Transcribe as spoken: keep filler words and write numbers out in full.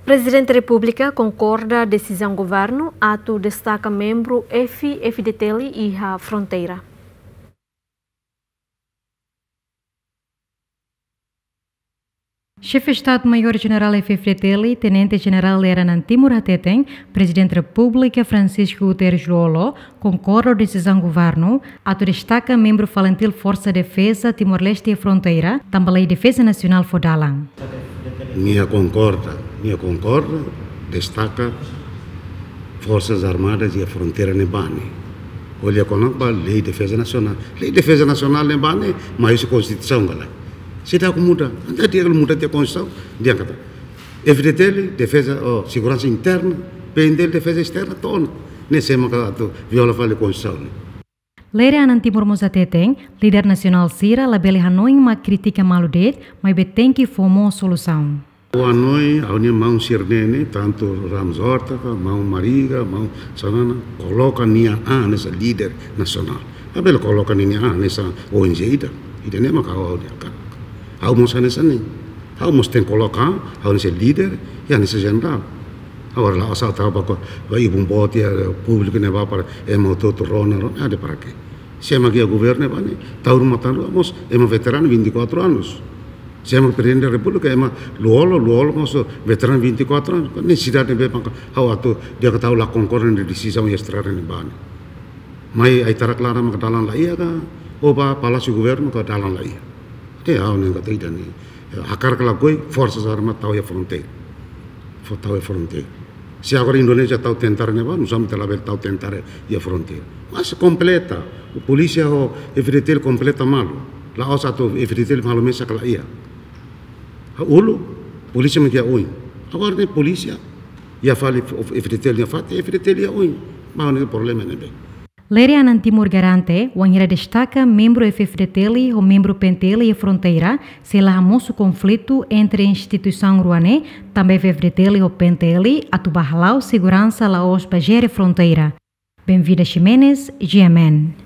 Prezidente Repúblika konkorda desizaun governu atu destaka membru F-FDTL iha fronteira. Xefe Estadu-Maiór Jenerál F-FDTL, Tenente Jenerál Lere Anan Timur hateten, Prezidente Repúblika Francisco Guterres Lú-Olo konkorda ho desizaun governu atu destaka membru FALINTIL Forsa Defeza Timor-Leste iha fronteira, tanba Lei Defeza Nasionál fó dalan. Nia konkorda, nia konkorda, destaka Forsas Armadas iha fronteira ne'ebá ne'e. Ko'alia kona-ba Lei Defeza Nasionál. Lei Defeza Nasionál ne'ebá ne'e, mai husi Konstituisaun ka lae. Seidauk muda, entaun di'ak muda tiha Konstituisaun, di'ak katak F-FDTL, defeza, oh, seguransa interna, P-FDTL, defeza esterna, to'o ona. Ne'e sé mak atu viola fali Konstituisaun ne'e. Lere Anan Timur mós hateten, líder nasionál sira labele hanoin mak kritika malu de'it, maibé tenke fó mós solusaun. Ha'u hanoin, ha'u-nia maun sira-ne'e, tantu Ramos Horta ka, maun Mariga, maun Xanana, koloka nia an hanesan líder nasionál. Labele koloka nia an hanesan O N G ida. Ida-ne'e mak ha'u, ha'u-nia hakarak. Ha'u mós hanesan ne'e. Ha'u mós tenke koloka an, ha'u hanesan líder, i hanesan jenerál. Agora la'ós ha'u tau ba ko, ba ibun boot iha públiku ne'ebá para ema hotu-hotu rona, rona, ah, de'it para quê? Sé mak iha governu ne'ebá ne'e, tau ruma tau ruma mós, ema veteranu vinte e quatro anos. Sé mak Prezidente Repúblika, ema Lú-Olo, Lú-Olo mós veteranu vinte e quatro anos. Nesesidade ne'ebé mak ha'u atu, di'ak katak ha'u la konkorda ho desizaun iha estrada ne'ebá ne'e. Mai ai-tarak laran mak dalan la iha ka, ou ba Palásiu Governu ka dalan la iha. Entaun ha'u hanoin katak ida-ne'e, eh, hakarak ka lakohi, Forsas Armadas tau iha fronteira. Fó tau iha fronteira. Se agora Indonézia tau tentara ne'ebá, nusá mak ita labele tau tentara iha fronteira. Mas kompleta, polísia ho F-FDTL kompleta malu. La'ós atu F-FDTL malu mesak ka lae. Uluk, polísia mak iha oin. Agora ne'e polísia iha fali F-FDTL nia fatin, F-FDTL iha oin. Maun, ne'e problema ne'ebé. Lere Anan Timur garante, wainhira destaka membru F-FDTL ho membru P-FDTL iha fronteira, sei la hamosu konflitu entre instituisaun rua ne'e, tanba F-FDTL ho P-FDTL atu ba hala'o seguransa la'ós ba jere fronteira. Benvida Ximenes, G M N.